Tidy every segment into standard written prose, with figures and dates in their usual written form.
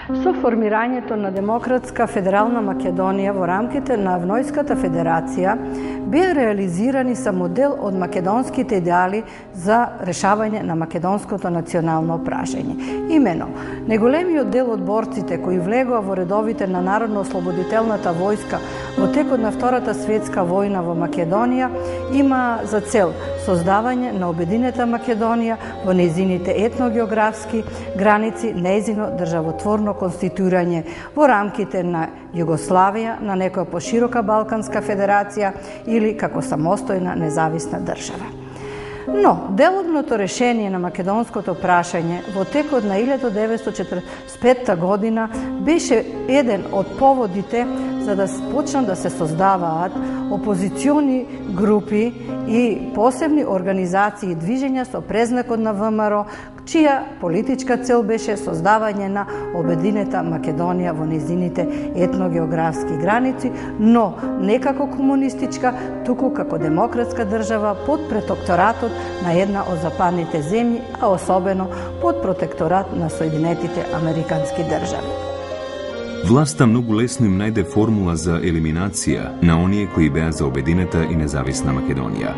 Со формирањето на Демократска федерална Македонија во рамките на Евнојската федерација беа реализирани са модел од македонските идеали за решавање на македонското национално прашање. Имено, неголемиот дел од борците кои влегоа во редовите на Народно-ослободителната војска во текот на Втората светска војна во Македонија има за цел создавање на обединета Македонија во нејзините етногеографски граници, нејзино државотворно конституирање во рамките на Југославија, на некоја поширока Балканска федерација или како самостојна независна држава. Но, деловното решение на македонското прашање во текот на 1945 година беше еден од поводите за да почнат да се создаваат опозициони групи и посебни организации и движења со презнакот на ВМРО, чија политичка цел беше создавање на обединета Македонија во нејзините етногеографски граници, но не како комунистичка, туку како демократска држава под протекторатот на една од западните земји, а особено под протекторат на Соединетите Американски држави. Власта многу лесно им најде формула за елиминација на оние кои беа за обединета и независна Македонија.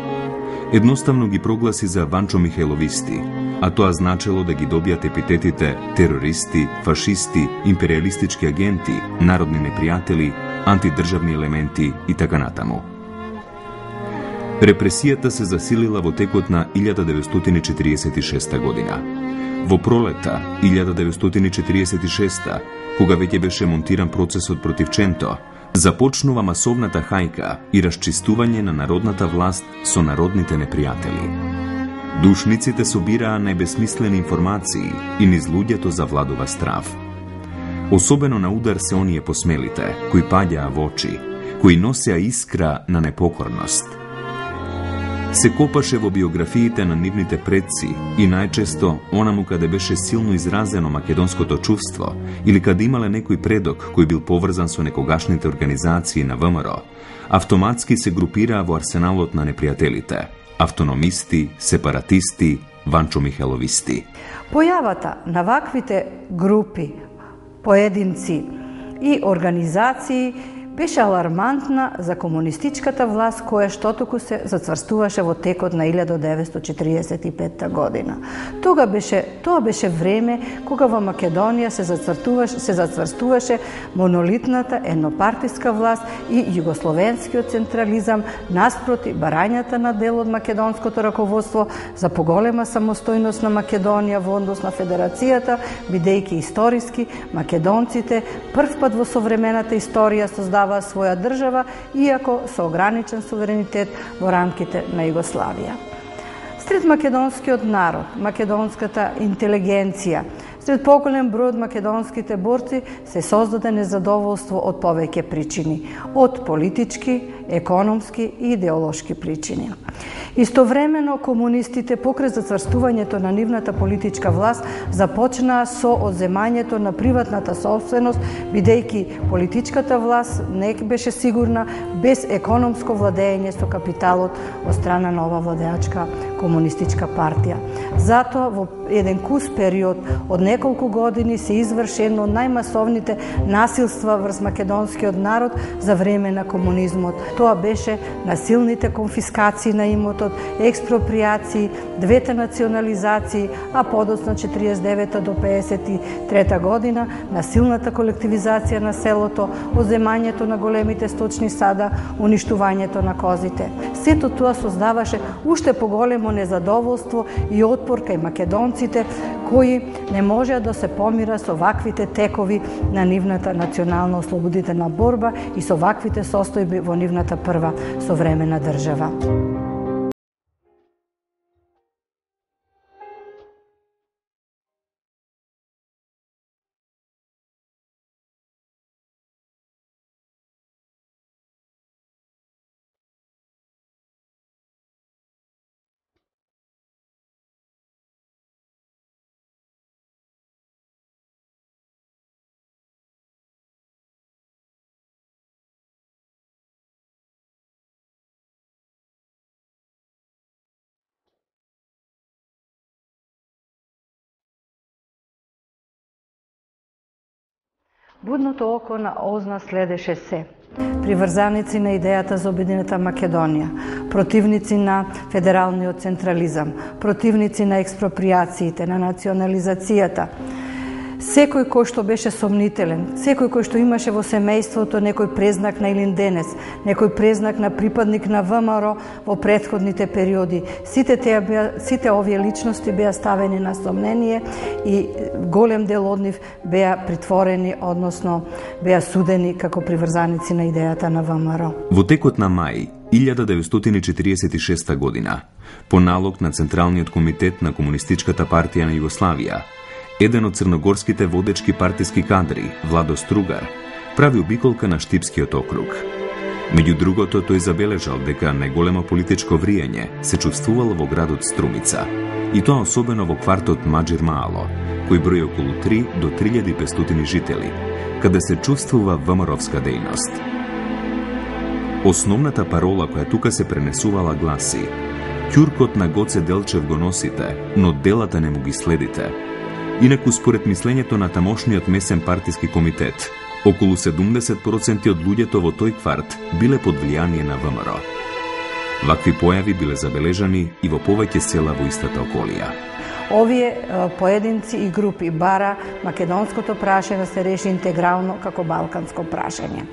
Едноставно ги прогласи за Ванчо Михајловисти, а тоа значело да ги добијат епитетите терористи, фашисти, империалистички агенти, народни непријатели, антидржавни елементи и така натаму. Репресијата се засилила во текот на 1946 година. Во пролета 1946, кога веќе беше монтиран процесот против Ченто, започнува масовната хајка и расчистување на народната власт со народните непријатели. Душниците собираа најбесмислени информации и низ луѓето завладува страв. Особено на удар се оние посмелите, кои паѓаа во очи, кои носеа искра на непокорност. Се копаше во биографиите на нивните предци и најчесто онаму каде беше силно изразено македонското чувство или каде имале некој предок кој бил поврзан со некогашните организации на ВМРО, автоматски се групираа во арсеналот на непријателите – автономисти, сепаратисти, Ванчо Михајловисти. Појавата на ваквите групи, поединци и организации беше алармантна за комунистичката власт која штотуку се зацврстуваше во текот на 1945 година. Тоа беше време кога во Македонија се зацврстуваше монолитната еднопартиска власт и југословенскиот централизам наспроти барањата на дел од македонското раководство за поголема самостојност на Македонија во однос на федерацијата, бидејќи историски македонците првпат во современата историја создаваа своја држава, иако со ограничен суверенитет во рамките на Југославија. Сред македонскиот народ, македонската интелигенција, сред поголем број од македонските борци се создаде незадоволство од повеќе причини, од политички, економски и идеолошки причини. Истовремено, комунистите покрај зацврстувањето на нивната политичка власт започнаа со одземањето на приватната собственост, бидејќи политичката власт не беше сигурна без економско владење со капиталот од страна на ова владеачка комунистичка партија. Затоа во еден кус период од неколку години се изврши едно од најмасовните насилства врз македонскиот народ за време на комунизмот. Тоа беше насилните конфискации на имотот, експроприации, двете национализации, а подоцна 49 до 53 година насилната колективизација на селото, одземањето на големите сточни сада, уништувањето на козите. Сето тоа создаваше уште поголемо незадоволство и отпор кај македонците кои не можеа да се помира со ваквите текови на нивната национално ослободителна борба и со ваквите состојби во нивната прва современа држава. Будното око на Озна следеше се. Приврзаници на идејата за Обединета Македонија, противници на федералниот централизам, противници на експроприациите, на национализацијата, секој кој што беше сомнителен, секој кој што имаше во семејството некој презнак на Илинденес, некој презнак на припадник на ВМРО во претходните периоди, сите овие личности беа ставени на сомнение и голем дел од нив беа притворени, односно беа судени како приврзаници на идејата на ВМРО. Во текот на мај 1946 година, по налог на Централниот комитет на Комунистичката партија на Југославија, еден од црногорските водечки партиски кадри, Владо Стругар, прави обиколка на Штипскиот округ. Меѓу другото, тој забележал дека најголемо политичко вриење се чувствувало во градот Струмица, и тоа особено во квартот Маџир Маало, кој брои околу 3 до 3500 жители, каде се чувствува ВМРО-вска дејност. Основната парола која тука се пренесувала гласи: "Ќуркот на Гоце Делчев го носите, но делата не му ги следите." Инаку, според мислењето на тамошниот месен партиски комитет, околу 70% од луѓето во тој кварт биле под влијание на ВМРО. Вакви појави биле забележани и во повеќе села во истата околија. Овие поединци и групи бара македонското прашање да се реши интегрално како балканско прашање.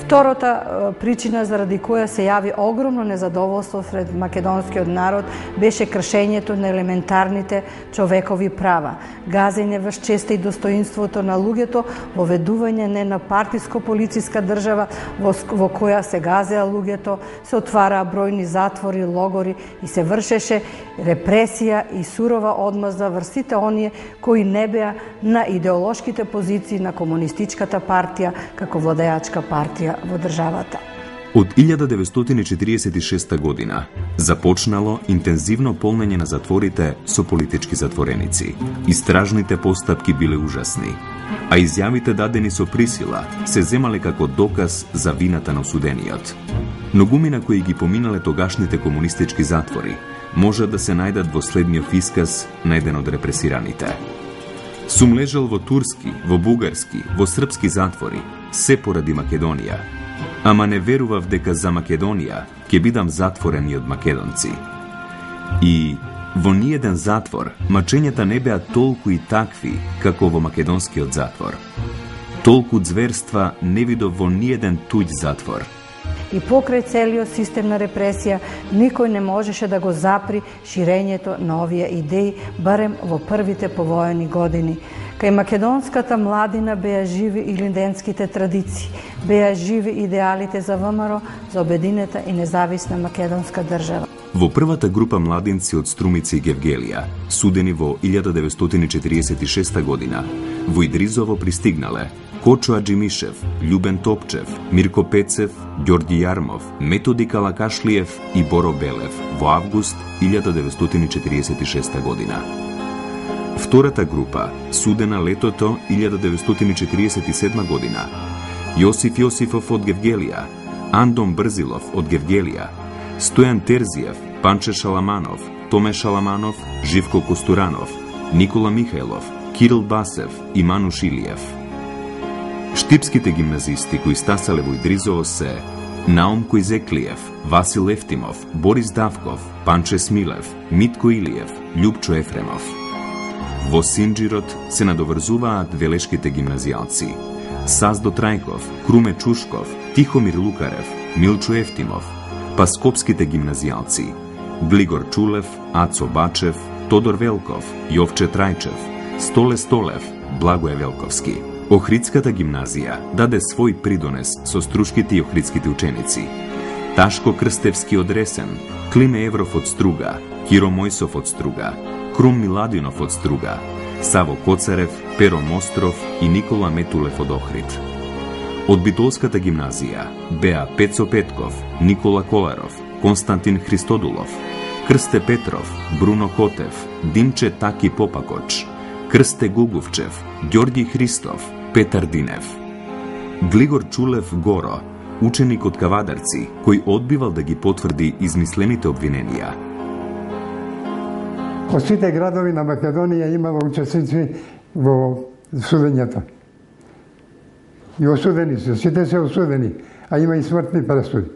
Втората причина заради која се јави огромно незадоволство сред македонскиот народ беше кршењето на елементарните човекови права, газење врз честа и достоинството на луѓето, воведување не на партиско-полициска држава во која се газеа луѓето, се отвараа бројни затвори, логори и се вршеше репресија и сурова одмазда врз сите оние кои не беа на идеолошките позиции на Комунистичката партија како владеачка партија во државата. Од 1946 година започнало интензивно полнење на затворите со политички затвореници. Истражните постапки биле ужасни, а изјавите дадени со присила се земале како доказ за вината на осудениот. Многумина кои ги поминале тогашните комунистички затвори можат да се најдат во следниот исказ на еден од репресираните. Сум лежал во турски, во бугарски, во српски затвори, се поради Македонија. Ама не верував дека за Македонија ќе бидам затворен и од македонци. И во ниеден затвор мачењата не беа толку и такви како во македонскиот затвор. Толку зверства не видов во ниеден туѓ затвор. И покрај целиот систем на репресија, никој не можеше да го запри ширењето на овие идеи, барем во првите повоени години. Кај македонската младина беа живи илинденските традиции, беа живи идеалите за ВМРО, за обединета и независна македонска држава. Во првата група младинци од Струмица и Гевгелија, судени во 1946 година, во Идризово пристигнале Кочо Аџимишев, Љубен Топчев, Мирко Пецев, Ѓорги Јармов, Методи Калакашлиев и Боро Белев во август 1946 година. Втората група, судена летото 1947 година, Јосиф Јосифов од Гевгелија, Андон Брзилов од Гевгелија, Стојан Терзиев, Панче Шаламанов, Томе Шаламанов, Живко Костуранов, Никола Михајлов, Кирил Басев и Мануш Илиев. Штипските гимназисти кои стасале во Идризово се Наум Којзеклиев, Васил Ефтимов, Борис Давков, Панче Смилев, Митко Илиев, Љупчо Ефремов. Во Синџирот се надоврзуваат велешките гимназијалци Саздо Трајков, Круме Чушков, Тихомир Лукарев, Милчо Ефтимов, па скопските гимназијалци Глигор Чулев, Ацо Бачев, Тодор Велков, Јовче Трајчев, Столе Столев, Благоје Велковски. Охридската гимназија даде свој придонес со струшките и охридските ученици. Ташко Крстевски од Ресен, Климе Евров од Струга, Киро Мојсов од Струга, Крум Миладинов од Струга, Саво Коцарев, Перо Мостров и Никола Метулев од Охрид. Од Битолската гимназија беа Пецо Петков, Никола Коларов, Константин Христодулов, Крсте Петров, Бруно Котев, Димче Таки Попакоч, Крсте Гуговчев, Ѓорги Христов, Петар Динев. Глигор Чулев Горо, ученик од Кавадарци, кој одбивал да ги потврди измислените обвиненија. Во сите градови на Македонија имало учесници во судењето. И осудени се, сите се осудени, а има и смртни пресуди.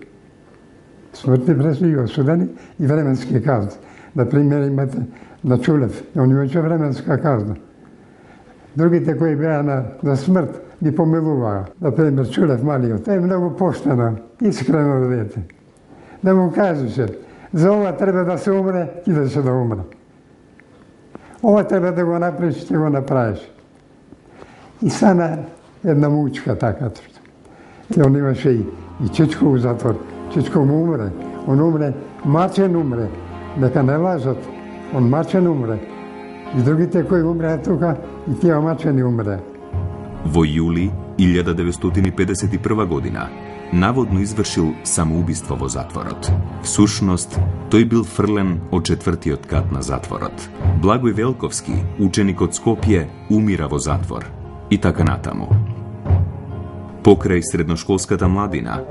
Смртни пресуди, осудени и временски казни. Например, имате на Чулев, он имаше временска казна. Другите кои беа на смрт ги помилуваа. Например, Чулев малиот е многу поштено, искрено дете. Да му кажеше, за ова треба да се умре, идеше да умре. Ова треба да го направиш, ќе го направиш. И стана една мучка така. И он имаше и Чичко у затвор. Чичко му умре. Он умре, мачен умре. Дека не лажат. Он мачен умре. И другите кои умреа тука, и тие мачени умре. Во јули 1951 година наводно извршил самоубиство во затворот. Всушност, тој бил фрлен од 4-тиот кат на затворот. Благој Велковски, ученик од Скопје, умира во затвор. И така натаму. Покрај средношколската младина,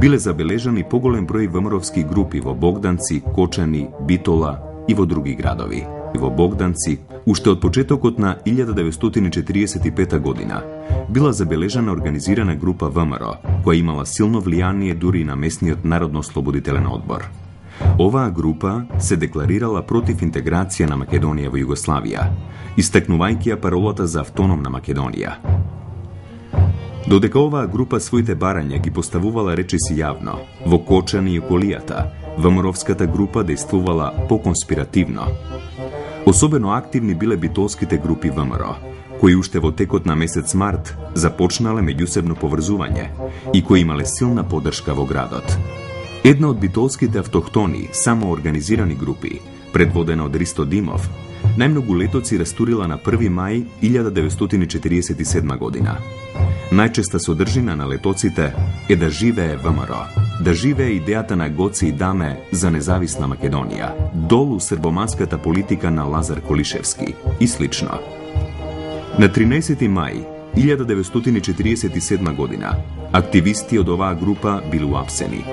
биле забележани поголем број ВМРО-вски групи во Богданци, Кочани, Битола и во други градови. Во Богданци, уште од почетокот на 1945 година, била забележана организирана група ВМРО, која имала силно влијание дури на местниот Народно-ослободителен одбор. Оваа група се декларирала против интеграција на Македонија во Југославија, истакнувајќи ја паролата за автономна Македонија. Додека оваа група своите барања ги поставувала речиси јавно, во Кочани и околијата, ВМРО-вската група действувала поконспиративно. Особено активни биле битолските групи ВМРО, кои уште во текот на месец март започнале меѓусебно поврзување и кои имале силна поддршка во градот. Една од битолските автохтони, самоорганизирани групи, предводена од Ристо Димов, најмногу летоци растурила на 1 мај 1947 година. Најчеста содржина на летоците е да живее ВМРО, да живее идејата на Гоце и Даме за независна Македонија, долу србоманската политика на Лазар Колишевски и слично. На 13 мај 1947 година активисти од оваа група били уапсени.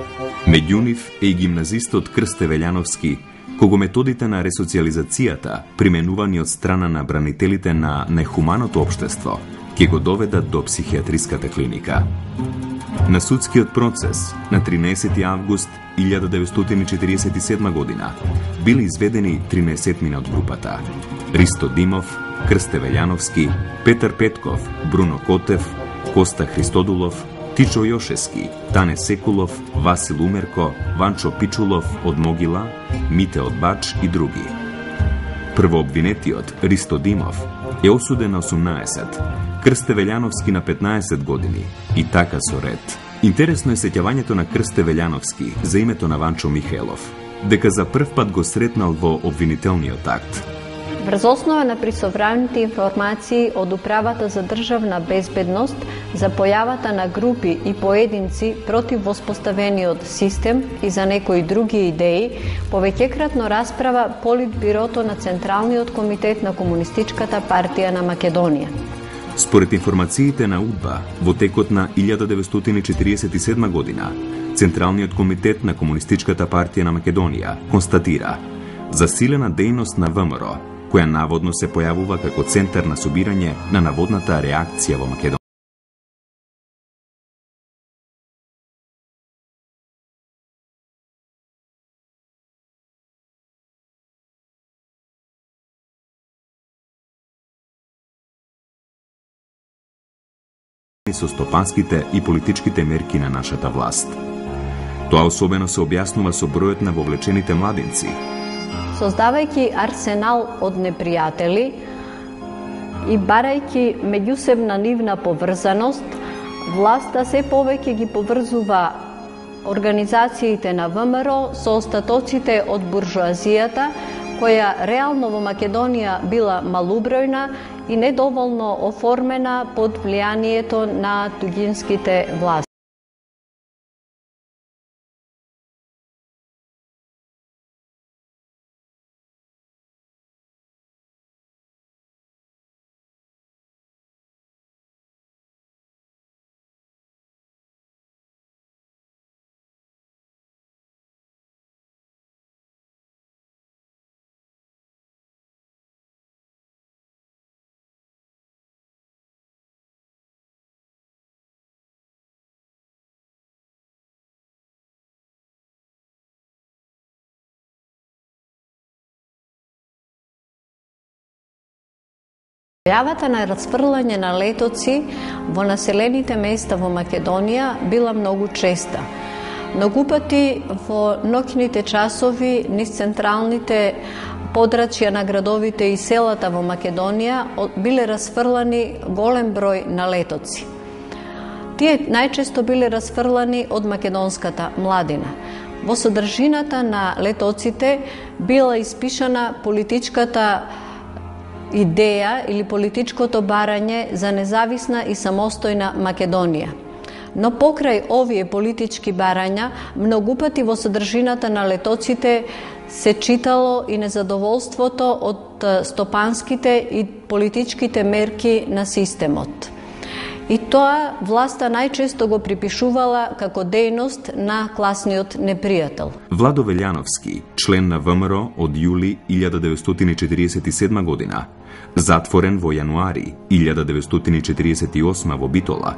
Меѓу нив е и гимназистот Крсте Велјановски, кого методите на ресоциализацијата, применувани од страна на бранителите на нехуманото општество, ќе го доведат до психијатриската клиника. На судскиот процес на 13 август 1947 година били изведени 13 од групата: Ристо Димов, Крсте Велјановски, Петар Петков, Бруно Котев, Коста Христодулов, Тичо Јошески, Тане Секулов, Васил Умерко, Ванчо Пичулов од Могила, Мите од Бач и други. Првообвинетиот Ристо Димов е осуден на 18, Крсте Велјановски на 15 години и така со ред. Интересно е сеќавањето на Крсте Велјановски за името на Ванчо Михелов, дека за прв пат го сретнал во обвинителниот акт. Врз основа на присовраните информации од Управата за државна безбедност за појавата на групи и поединци против воспоставениот систем и за некои други идеи, повеќекратно расправа Политбирото на Централниот комитет на Комунистичката партија на Македонија. Според информациите на УДБА, во текот на 1947 година, Централниот комитет на Комунистичката партија на Македонија констатира засилена дејност на ВМРО, која наводно се појавува како центар на собирање на наводната реакција во Македонија. Со стопанските и политичките мерки на нашата власт. Тоа особено се објаснува со бројот на вовлечените младинци. Создавајќи арсенал од непријатели и барајќи меѓусебна нивна поврзаност, власта се повеќе ги поврзува организациите на ВМРО со остатоците од буржоазијата, која реално во Македонија била малубројна и недоволно оформена под влијанието на туѓинските власти. Појавата на расфрлање на летоци во населените места во Македонија била многу честа. Многу пати во ноќните часови низ централните подрачја на градовите и селата во Македонија биле расфрлани голем број на летоци. Тие најчесто биле расфрлани од македонската младина. Во содржината на летоците била испишана политичката идеја или политичкото барање за независна и самостојна Македонија. Но покрај овие политички барања, многу пати во содржината на летоците се читало и незадоволството од стопанските и политичките мерки на системот. И тоа власта најчесто го припишувала како дејност на класниот непријател. Владо Велјановски, член на ВМРО од јули 1947 година, затворен во јануари 1948 во Битола,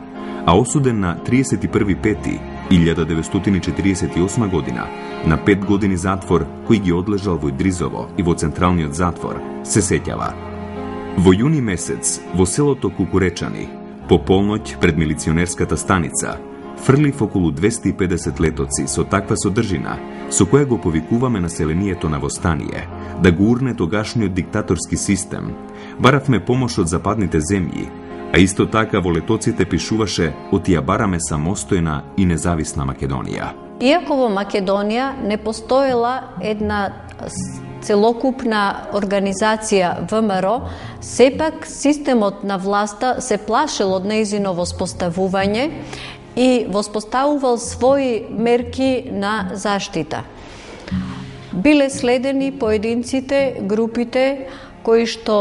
а осуден на 31.5.1948 година на 5 години затвор кој ги одлежал во Идризово и во Централниот затвор, се сеќава. Во јуни месец во селото Кукуречани, по полноќ пред милиционерската станица, фрлив околу 250 летоци со таква содржина, со која го повикуваме населението на востание, да го урне тогашниот диктаторски систем. Баравме помош од западните земји, а исто така во летоците пишуваше од ја бараме самостојна и независна Македонија. Иако во Македонија не постоела една целокупна организација ВМРО, сепак системот на власта се плашел од нејзино воспоставување и воспоставувал своји мерки на заштита. Биле следени поединците, групите кои што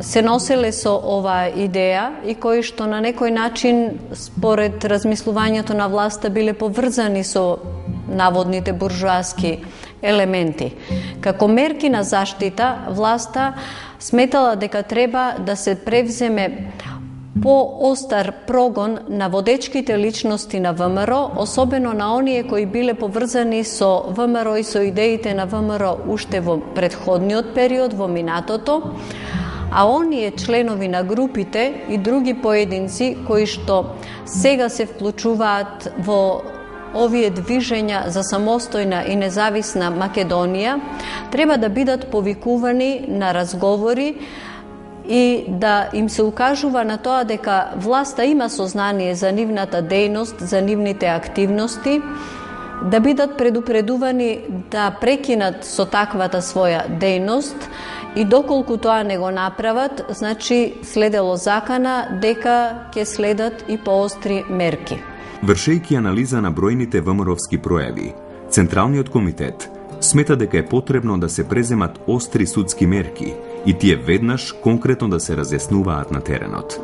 се носеле со оваа идеја и кои што на некој начин, според размислувањето на власта, биле поврзани со наводните буржуаски елементи. Како мерки на заштита, власта сметала дека треба да се превземе поостар прогон на водечките личности на ВМРО, особено на оние кои биле поврзани со ВМРО и со идеите на ВМРО уште во претходниот период, во минатото, а оние членови на групите и други поединци кои што сега се вклучуваат во овие движења за самостојна и независна Македонија, треба да бидат повикувани на разговори и да им се укажува на тоа дека власта има сознание за нивната дејност, за нивните активности, да бидат предупредувани да прекинат со таквата своја дејност и доколку тоа не го направат, значи следело закана дека ќе следат и поостри мерки. Вршејќи анализа на бројните ВМРО-вски пројави, Централниот комитет смета дека е потребно да се преземат остри судски мерки и тие веднаш конкретно да се разјаснуваат на теренот.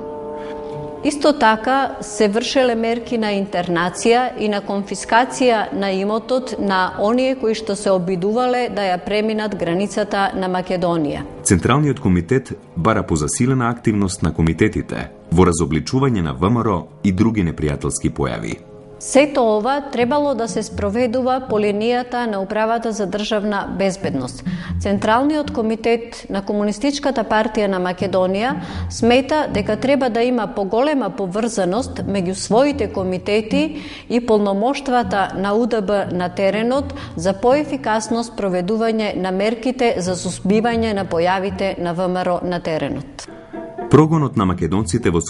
Исто така се вршеле мерки на интернација и на конфискација на имотот на оние кои што се обидувале да ја преминат границата на Македонија. Централниот комитет бара позасилена активност на комитетите во разобличување на ВМРО и други непријателски појави. Сето ова требало да се спроведува по линијата на Управата за државна безбедност. Централниот комитет на Комунистичката партија на Македонија смета дека треба да има поголема поврзаност меѓу своите комитети и полномоштвата на УДБ на теренот за поефикасно спроведување на мерките за сузбивање на појавите на ВМРО на теренот. Прогонот на македонците во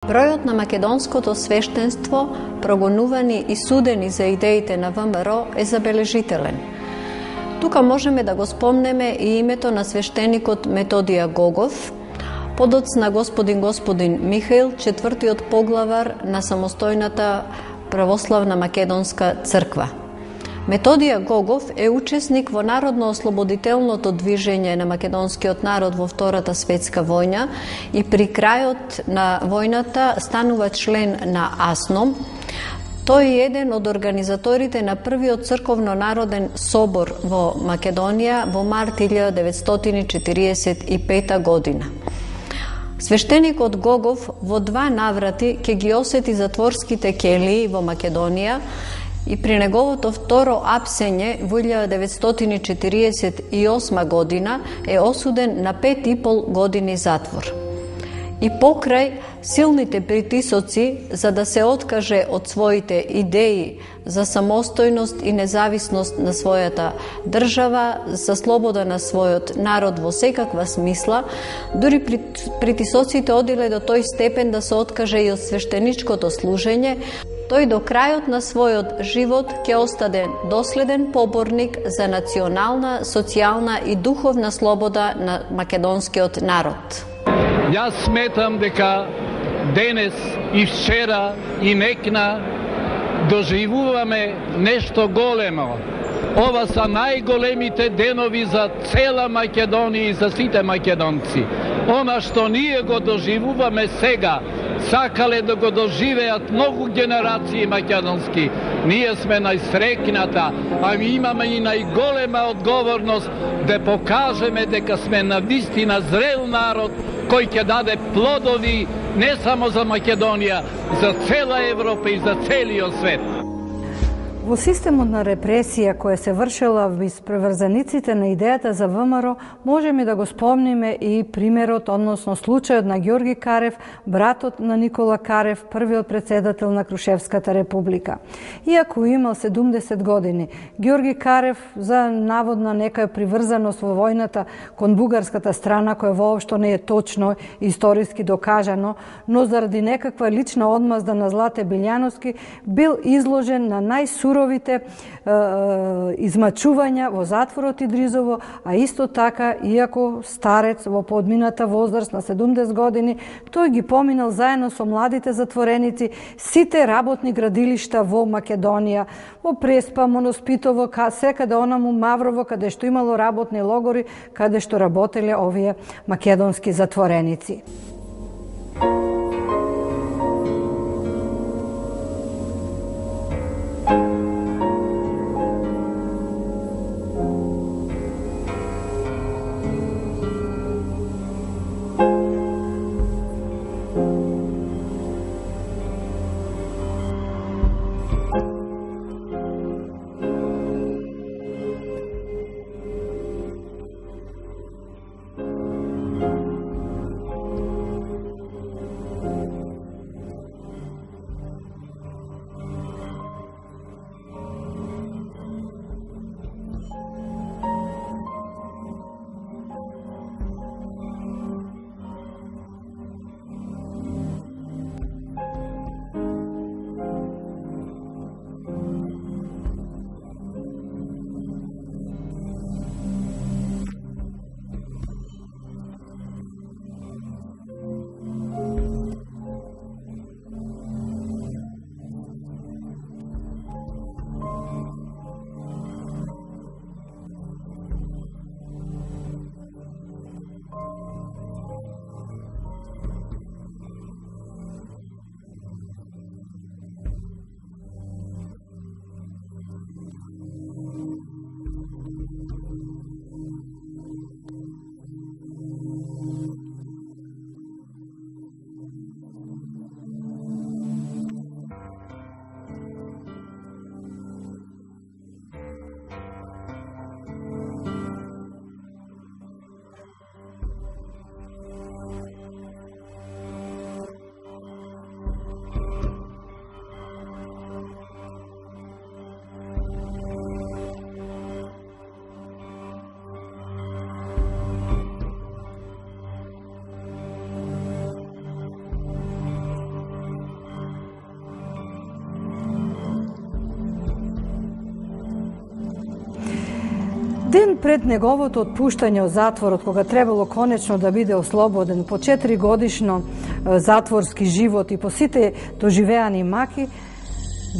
Бројот на македонското свештенство, прогонувани и судени за идеите на ВМРО, е забележителен. Тука можеме да го спомнеме и името на свештеникот Методија Гогов, подоц на господин Михаил, четвртиот поглавар на самостојната православна македонска црква. Методија Гогов е учесник во народно-ослободителното движење на македонскиот народ во Втората светска војна и при крајот на војната станува член на АСНОМ. Тој е еден од организаторите на првиот црковно-народен собор во Македонија во март 1945 година. Свештеникот Гогов во 2 наврати ќе ги осети затворските келии во Македонија и при неговото второ апсење во 1948 година е осуден на 5,5 години затвор. И покрај силните притисоци за да се откаже од своите идеи за самостојност и независност на својата држава, за слобода на својот народ во секаква смисла, дури притисоците одиле до тој степен да се откаже и од свештеничкото служење, тој до крајот на својот живот ќе остаде доследен поборник за национална, социјална и духовна слобода на македонскиот народ. Јас сметам дека денес и вчера и некна доживуваме нешто големо. Ова са најголемите денови за цела Македонија и за сите македонци. Она што ние го доживуваме сега, сакале да го доживеат многу генерации македонски. Ние сме најсрекната, а ми имаме и најголема одговорност да покажеме дека сме навистина зрел народ кој ќе даде плодови не само за Македонија, за цела Европа и за целиот свет. Во системот на репресија која се вршела виз приврзаниците на идејата за ВМРО, можеме да го спомниме и примерот, односно случајот на Ѓорги Карев, братот на Никола Карев, првиот председател на Крушевската република. Иако имал 70 години, Ѓорги Карев за наводна некоја приврзаност во војната кон бугарската страна, која воопшто не е точно историски докажано, но заради некаква лична одмазда на Злате Билјановски, бил изложен на најсуровите измачувања во затворот Идризово, а исто така, иако старец во подмината возраст на 70 години, тој ги поминал заедно со младите затвореници сите работни градилишта во Македонија, во Преспа, Моноспитово, секаде онаму Маврово, каде што имало работни логори, каде што работеле овие македонски затвореници. Ден пред неговото отпуштање од затворот, кога требало конечно да биде ослободен по 4-годишно затворски живот и по сите доживеани маки,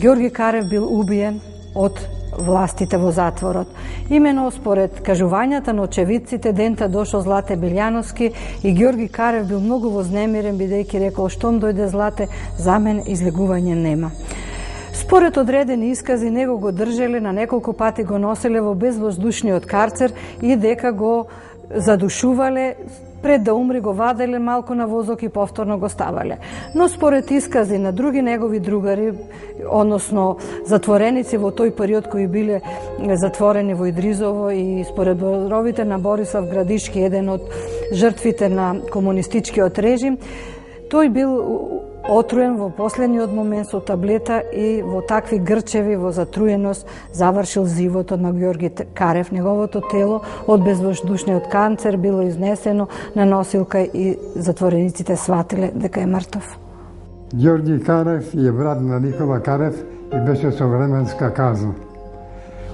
Ѓорги Карев бил убиен од властите во затворот. Имено според кажувањата на очевидците, дента дошол Злате Билјановски и Ѓорги Карев бил многу вознемирен, бидејќи рекол: "Штом дојде Злате, за мен излегување нема." Според одредени искази, него го држеле, на неколку пати го носеле во безвоздушниот карцер и дека го задушувале, пред да умри го ваделе малку на возок и повторно го ставале. Но според искази на други негови другари, односно затвореници во тој период кои биле затворени во Идризово, и според зборовите на Борислав Градишки, еден од жртвите на комунистичкиот режим, тој бил отруен во последниот момент со таблета и во такви грчеви, во затруеност, завршил животот на Ѓорги Карев. Неговото тело од безвоздушниот канцер било изнесено на носилка и затворениците сватиле дека е мртов. Ѓорги Карев е брат на Никола Карев и беше со временска казна.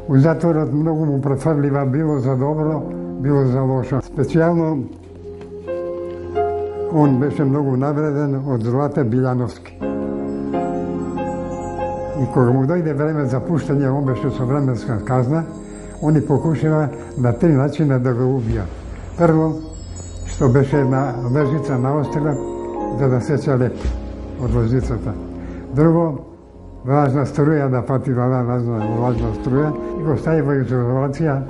У затворот многу му префрлива, било за добро, било за лошо. Специјално он беше многу навреден од Злате Билјановски. И кога му дојде време за пуштање, он беше со временска казна, они покушава на 3 начина да го убијат. Прво, што беше една лежица наострила за да сеча леп од лежицата. Друго, влажна струја да пати влажна струја и го стави во изолација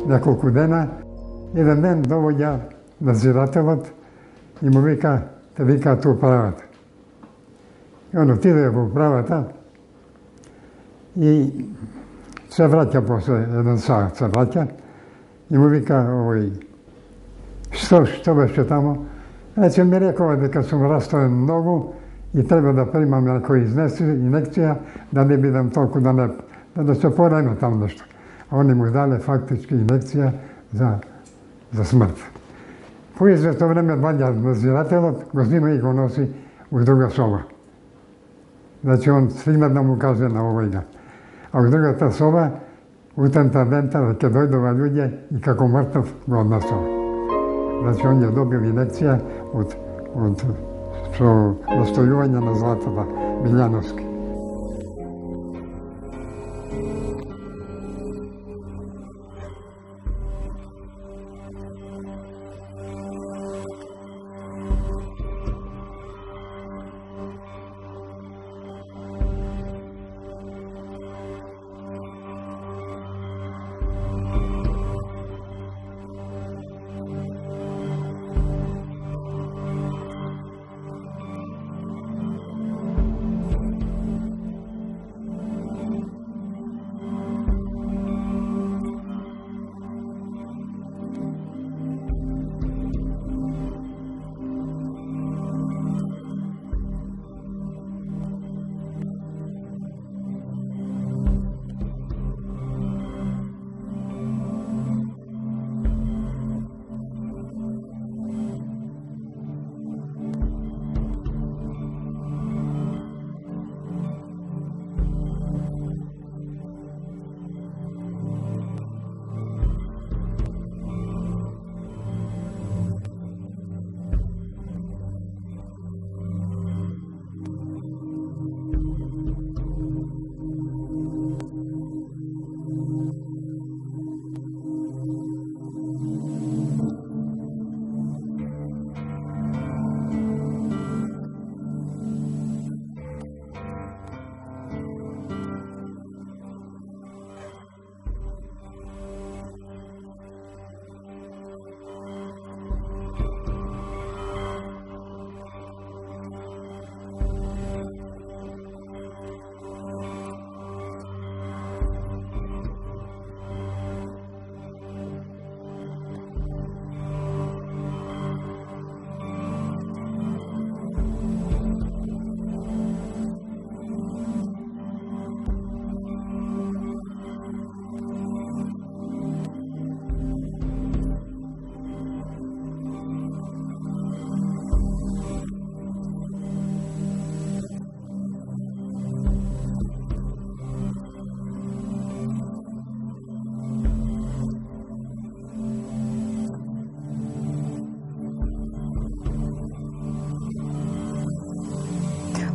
неколку дена. Еден ден довоѓа надзирателот и му вика: "Те викаат у правата." И он отиде во правата и се враќа после еден саат, се враќа и му вика овој: Што беше тамо? Рече, ми рекова дека сум растоен многу и треба да примам некој инекција, да не бидам толку да се пореме там нешто. А они му дале фактички инекција за смрт. По известно време ваѓа надзирателот, го знима и го носи у друга соба. Значи он стигна да му каже на овојга. А у другата соба, утента дента, ќе дојдува луѓе и како мртов го однесува. Значи он ја добил инекција од настојување на Златата Билјановски.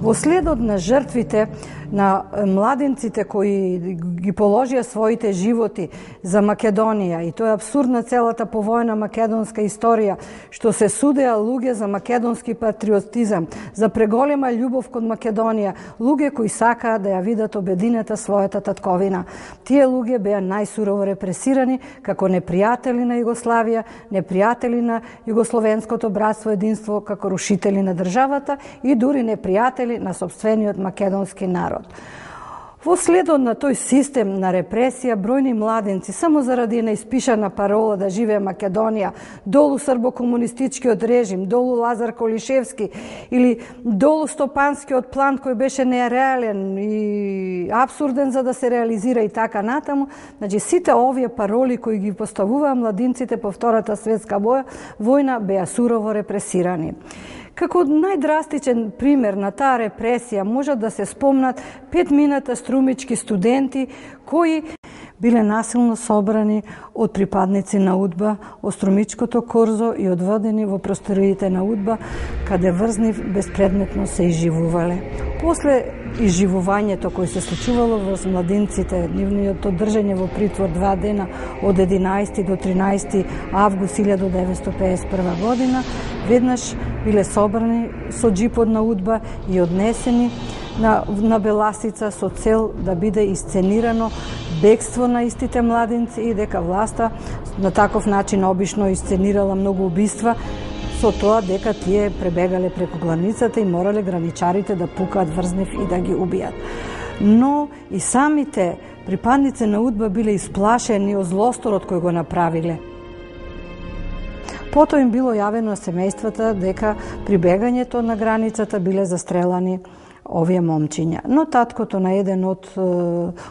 Во следот на жртвите на младенците кои ги положија своите животи за Македонија, и тоа е апсурд на целата повојна македонска историја, што се судеа луѓе за македонски патриотизам, за преголема љубов кон Македонија, луѓе кои сакаа да ја видат обединета својата татковина. Тие луѓе беа најсурово репресирани како непријатели на Југославија, непријатели на југословенското братство единство, како рушители на државата и дури непријатели на сопствениот македонски народ. Во следот на тој систем на репресија, бројни младенци, само заради неиспишана парола да живее Македонија, долу србо-комунистичкиот режим, долу Лазар Колишевски или долу Стопанскиот план кој беше нереален и апсурден за да се реализира и така натаму, значи сите овие пароли кои ги поставуваа младинците по Втората светска војна беа сурово репресирани. Како најдрастичен пример на таа репресија може да се спомнат 5 струмички студенти кои биле насилно собрани од припадници на УДБА од Струмичкото корзо и одведени во просториите на УДБА, каде врзнив безпредметно се изживувале. После изживувањето кој се случувало во младинците, нивниот држање во притвор 2 дена од 11 до 13 август 1951 година, веднаш биле собрани со джипот на УДБА и однесени на Беласица со цел да биде исценирано бегство на истите младинци и дека власта на таков начин обично исценирала многу убиства со тоа дека тие пребегале преку границата и морале граничарите да пукаат врзнив и да ги убијат. Но и самите припадници на УДБА биле исплашени од злосторот кој го направиле. Потоа им било јавено на семејствата дека при бегањето на границата биле застрелани овие момчиња. Но таткото на еден од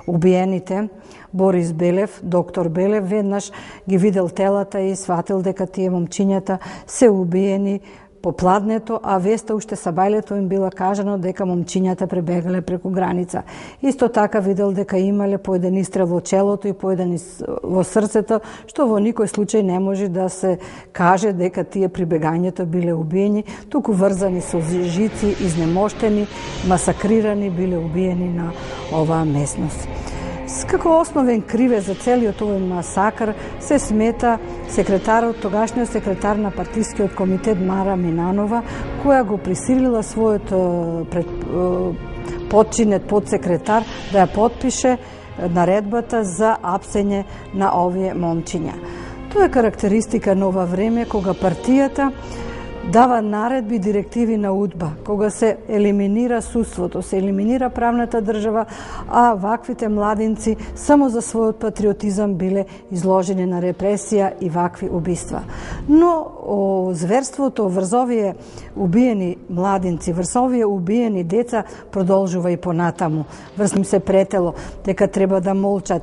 убиените, Борис Белев, доктор Белев, веднаш ги видел телата и сватил дека тие момчињата се убиени по пладнето, а веста уште сабајлето им била кажано дека момчињата пребегале преку граница. Исто така видел дека имале по еден истрел во челото и по еден во срцето, што во никој случај не може да се каже дека тие при бегањето биле убиени, туку врзани со жици, изнемоштени, масакрирани, биле убиени на оваа местност. Како основен кривец за целиот овој масакр се смета тогашниот секретар на партискиот комитет Мара Минанова, која го присилила својот подчинет подсекретар да ја потпише наредбата за апсење на овие момчиња. Тоа е карактеристика на ова време кога партијата дава наредби, директиви на УДБА, кога се елиминира судството, се елиминира правната држава, а ваквите младинци само за својот патриотизам биле изложени на репресија и вакви убиства. Но зверството врз овие убиени младинци, врз овие убиени деца продолжува и понатаму. Врз им се претело дека треба да молчат,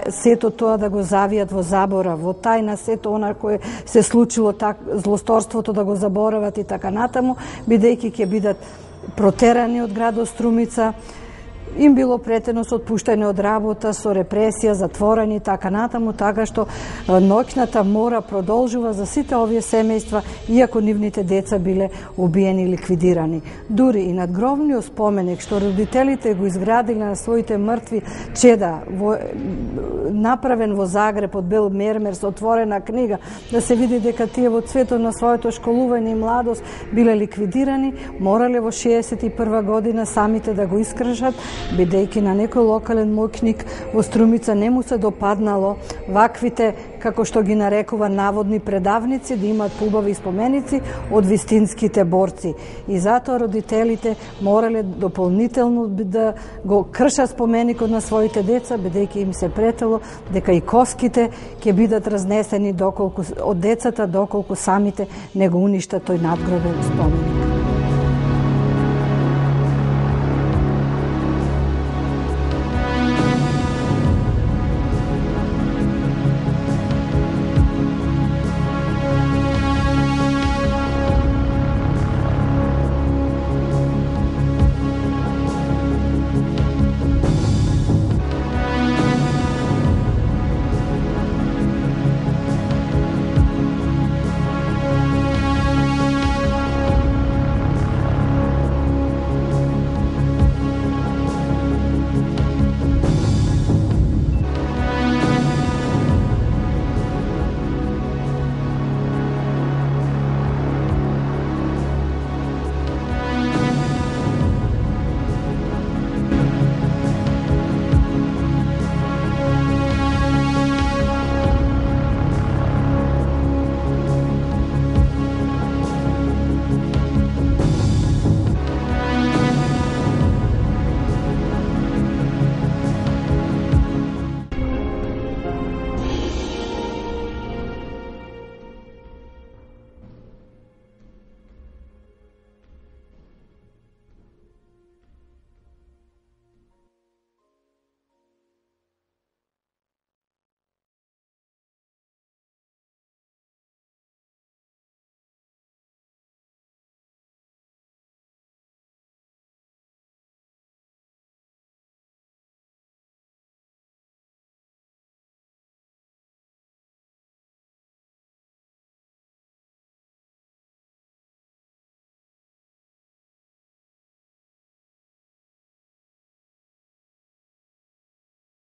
сето тоа да го завијат во забора, во тајна сето она кое се случило, злосторството да го заборават и така натаму, бидејќи ќе бидат протерани од градот Струмица, им било претено со отпуштање од работа, со репресија, затворени и така натаму, така што ноќната мора продолжува за сите овие семејства, иако нивните деца биле убиени и ликвидирани. Дури и надгробниот споменик што родителите го изградиле на своите мртви чеда, направен во Загреб од бел мермер со отворена книга, да се види дека тие во цветот на своето школување и младост биле ликвидирани, морале во 61 година самите да го искршат, бидејќи на некој локален моќник во Струмица не му се допаднало ваквите, како што ги нарекува, наводни предавници, да имаат поубави споменици од вистинските борци. И затоа родителите морале дополнително да го кршат споменикот на своите деца, бидејќи им се претело дека и коските ќе бидат разнесени од децата доколку самите не го уништат тој надгробен споменик.